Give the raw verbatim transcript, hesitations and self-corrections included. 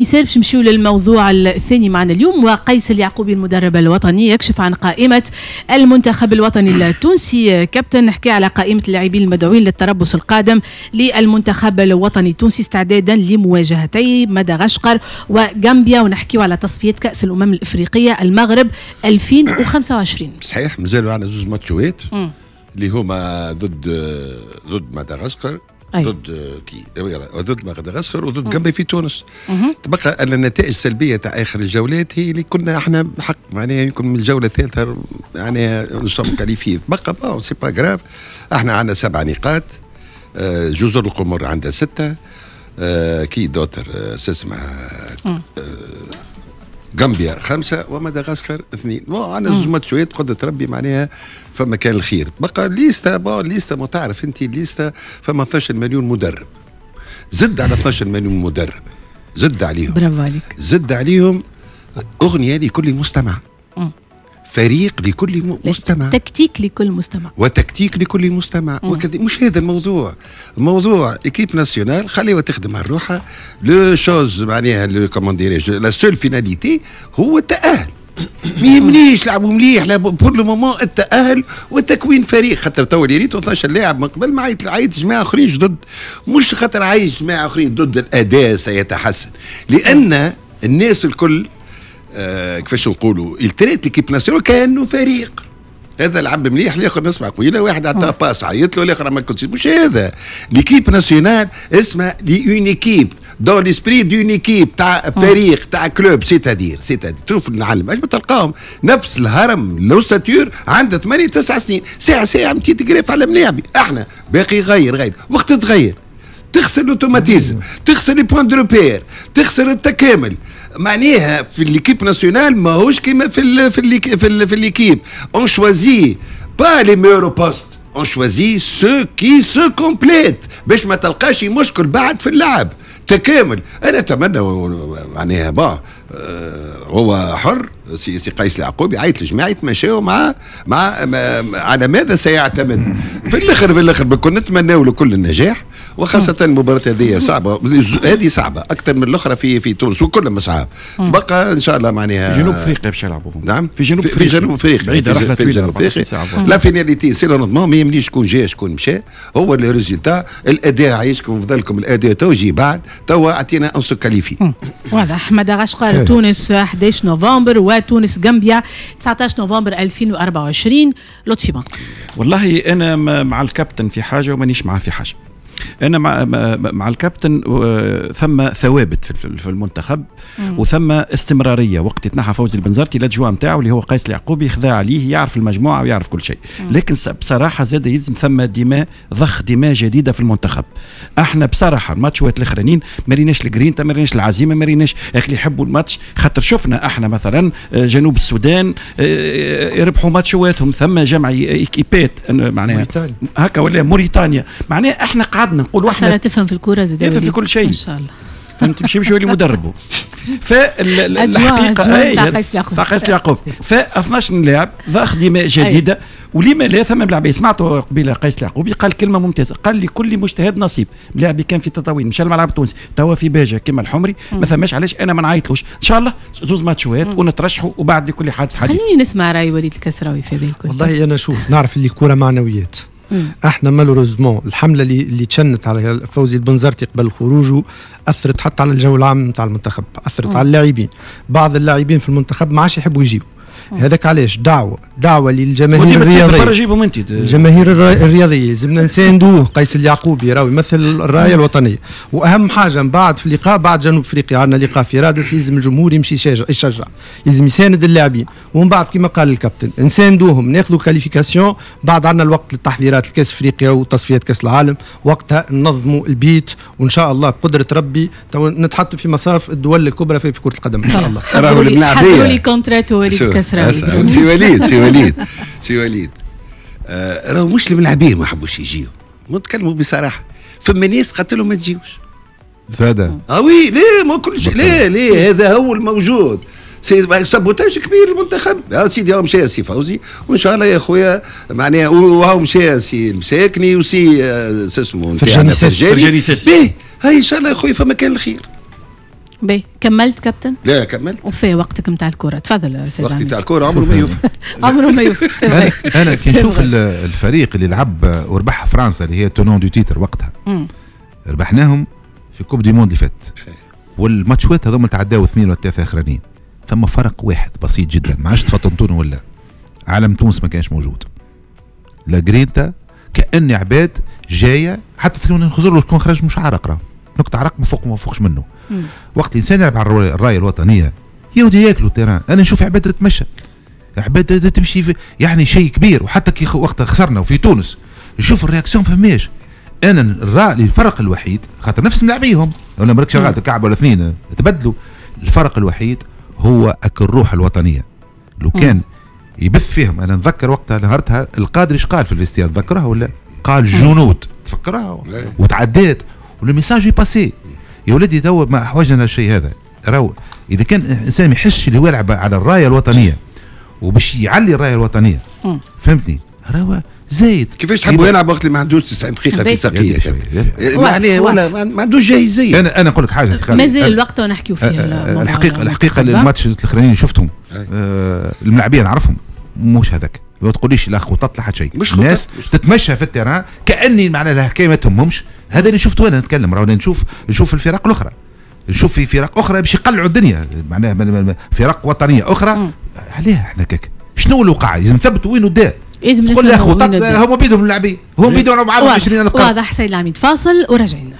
مثال باش نمشيو للموضوع الثاني معنا اليوم، وقيس اليعقوبي المدرب الوطني يكشف عن قائمة المنتخب الوطني التونسي. كابتن، نحكي على قائمة اللاعبين المدعوين للتربص القادم للمنتخب الوطني التونسي استعدادا لمواجهتي مدغشقر وغامبيا، ونحكيو على تصفية كأس الأمم الإفريقية المغرب ألفين وخمسة وعشرين. صحيح، مازالوا عندنا زوج ماتشوات اللي هما ضد ضد مدغشقر، ضد كي ضد مدغشقر وضد غامبيا في تونس. تبقى ان النتائج السلبية تاع اخر الجولات هي اللي كنا احنا بحق معناها يمكن من الجولة الثالثة معناها nous sommes qualifiés. بقى bon c'est pas grave، احنا عندنا سبع نقاط، جزر القمر عندها ستة، qui d'autre اسمها غامبيا خمسة ومدغشقر اثنين. bon عندنا زوج ماتشات قدرة ربي معناها فما كان الخير. تبقى liste، bon liste ما تعرف انت liste فما اثناش مليون مدرب، زد على اثناش مليون مدرب، زد عليهم، برافو عليك، زد عليهم اغنية لكل مستمع، مم. فريق لكل مستمع، تكتيك لكل مستمع، وتكتيك لكل مستمع وكذا. مش هذا الموضوع، الموضوع équipe nationale خليها تخدم على روحها. la chose معناها le comment dirais-je la seule finalité هو التأهل. ما يهمنيش لعبوا مليح، لا pour le moment التأهل وتكوين فريق. خاطر تو اللي ريتو اثناش لاعب من قبل ما عيط عيط جماعة اخرين جدد، مش خاطر عايش جماعة اخرين ضد الاداء سيتحسن، لان الناس الكل آه كيفاش نقولوا ils traitent l'équipe nationale كانه فريق. هذا لعب مليح، الاخر نسمع قويله، واحد عطاه passe عيط له، الاخر ما كنتش. مش هذا l'équipe nationale، اسمها une équipe dans l'esprit d'une équipe تاع فريق تاع club، c'est-à-dire c'est-à-dire تشوف العالم اش تلقاهم نفس الهرم l'ossature عنده ثمانية تسع سنين، ساعة ساعة متي تقريف على ملاعبي. احنا باقي غير غير وقت تغير، تخسر l'automatisme، تخسر les points de repère، تخسر التكامل. معناها في l'équipe nationale ماهوش كيما في ال في ال في, ال في l'équipe. on choisit pas les meilleurs postes، on choisit ceux qui se complètent باش ما تلقاش مشكل بعد في اللعب، تكامل. انا اتمنى معناها bon آه هو حر سي, سي قيس اليعقوبي عيط الجماعة يتمشاو مع مع على ماذا سيعتمد في الاخر. في الاخر بكون نتمناو له كل النجاح، وخاصة المباراة هذه صعبة، هذه صعبة أكثر من الأخرى في في تونس وكلهم صعاب. تبقى إن شاء الله معناها في جنوب أفريقيا باش يلعبوا. نعم، في جنوب في, في جنوب أفريقيا، بعيدة رحلة طويلة. في جنوب أفريقيا la finalité c'est le rendement، ما يهمنيش شكون جا شكون مشى، هو le résultat الأداء. عايشكم فضلكم الأداء تو يجي بعد، توا أعطينا on se qualifie. واضح. مدغشقر تونس أحد عشر نوفمبر وتونس غامبيا تسعة عشر نوفمبر ألفين وأربعة وعشرين. لطفي بنك. والله أنا مع الكابتن في حاجة ومانيش معاه في حاجة. انا مع مع الكابتن، ثم ثوابت في المنتخب وثم استمرارية. وقت يتنحى فوزي البنزرتي l'adjoint نتاعو اللي هو قيس اليعقوبي خذا عليه، يعرف المجموعة ويعرف كل شيء. لكن بصراحة زاد يلزم ثم دماء، ضخ دماء جديدة في المنتخب. احنا بصراحة الماتشات الاخرانيين ما ريناش الجرينتا، ما ريناش العزيمه، ما ريناش اللي يحبوا الماتش. خاطر شفنا احنا مثلا جنوب السودان يربحوا ماتشواتهم، ثم جمع équipe ات معناها هكا، ولا موريتانيا معناها. احنا قعدنا نقول احنا تفهم في الكورة زاد، تفهم في كل شيء ان شاء الله، فهمت؟ مش يمشي يولي مدربه. فالحقيقة تاع قيس اليعقوب، تاع قيس اليعقوب ف اثناش لاعب ضخ دماء جديده، ولما لا ثم ملاعبيه. سمعته قبيلة قيس اليعقوبي قال كلمة ممتازه، قال لكل مجتهد نصيب. ملاعبي كان في تطاوين مشى الملعب التونسي، توا في باجه كما الحمري، ما ثماش علاش انا ما نعيطلوش. ان شاء الله زوز ماتشوات ونترشحوا وبعد لكل حادث حديث. خليني نسمع راي وليد الكسراوي في هذه الكل. والله انا شوف نعرف اللي كورة معنويات. احنا malheureusement الحملة اللي اللي تشنت على فوزي البنزرتي قبل خروجه اثرت حتى على الجو العام نتاع المنتخب، اثرت مم. على اللاعبين. بعض اللاعبين في المنتخب ما عادش يحبوا يجيو. هذاك علاش دعوه دعوه للجماهير الرياضيه، الجماهير الرياضية لازمنا نساندوه. قيس اليعقوبي راهو يمثل الراية الوطنيه، واهم حاجة من بعد في اللقاء بعد جنوب افريقيا عندنا لقاء في رادس، لازم الجمهور يمشي يشجع، لازم يساند اللاعبين. ومن بعد كما قال الكابتن نساندوهم، ناخذوا qualification، بعد عندنا الوقت للتحضيرات لكاس افريقيا وتصفيات كاس العالم، وقتها ننظموا البيت وان شاء الله بقدره ربي نتحطوا في مصاف الدول الكبرى في كره القدم ان شاء الله. راهو الملاعبيه لي contrat وليد كسراوي. سي وليد سي وليد سي وليد آه راهو مش الملاعبيه ما حبوش يجيو، نتكلموا بصراحة، فما ناس قالت لهم ما تجيوش. زاد اه oui، ليه ما كل شيء، ليه ليه هذا هو الموجود. c'est sabotage كبير المنتخب يا سيدي. هاو مشى سي فوزي وان شاء الله يا خويا معناها، وهاو مشى سي المساكني وسي اسمه فرجاني فرجاني. هاي ان شاء الله يا خويا فما كان الخير. باهي، كملت كابتن؟ لا كملت. وفي وقتك نتاع الكره، تفضل سيدي. وقتي نتاع الكره عمره ما يوفى. عمره ما يوفى. انا, أنا كي نشوف الفريق اللي لعب وربح فرنسا اللي هي tenant du titre وقتها، مم. ربحناهم في coupe du monde اللي فات، والماتشوات هذوما تعداو اثنين ولا ثلاثة اخرانيين، ثم فرق واحد بسيط جدا، ما عادش تفطنتونه ولا علم تونس ما كانش موجود. la grinta كأن عباد جاية، حتى نخزر له شكون خرج مش عرق، راه نقطة عرق ما فوق ما فوقش منه. مم. وقت الانسان يلعب على الراية الوطنية يودي ياكلوا terrain. انا نشوف عباد تتمشى، عباد تمشي في يعني شيء كبير. وحتى كي وقت خسرنا وفي تونس نشوف ال réaction فماش. انا الرأي الفرق الوحيد خاطر نفس ملاعبيهم ولا مالكش غلط كعب ولا اثنين تبدلوا، الفرق الوحيد هو اك الروح الوطنية لو كان يبث فيهم. انا نتذكر وقتها نهارتها القادري ايش قال في ال vestiaire، تذكرها ولا؟ قال جنود، تفكرها وتعديت وال message est passé. يا ولدي تو ما احوجنا الشيء هذا. راهو اذا كان انسان ما يحسش اللي هو يلعب على الراية الوطنية وباش يعلي الراية الوطنية، فهمتني، راهو زايد. كيفاش تحبوا يلعب وقت اللي ما عندوش تسعين دقيقة في ساقيه؟ معناها ولا ما عندوش جاهزيه. انا انا نقول لك حاجه، مازال الوقت ونحكيو فيه. الحقيقة الحقيقة الماتش الاخرانيين اللي شفتهم آه الملاعبيه نعرفهم مش هذاك، ما تقوليش لا خطط لا حتى شيء، مش الناس تتمشى في ال terrain كاني معناها الحكاية ما تهمهمش. هذا اللي شفته انا نتكلم، راهو نشوف نشوف الفرق الاخرى، نشوف في فرق اخرى باش يقلعوا الدنيا، معناها فرق وطنية اخرى. عليها احنا كاك شنو اللي وقع؟ لازم نثبتوا وين الداء. لازم تقول له خطط، هما بيدهم اللاعبين، هم بيدهم معاهم عشرين ألف. واضح سيد العميد، فاصل وراجعين.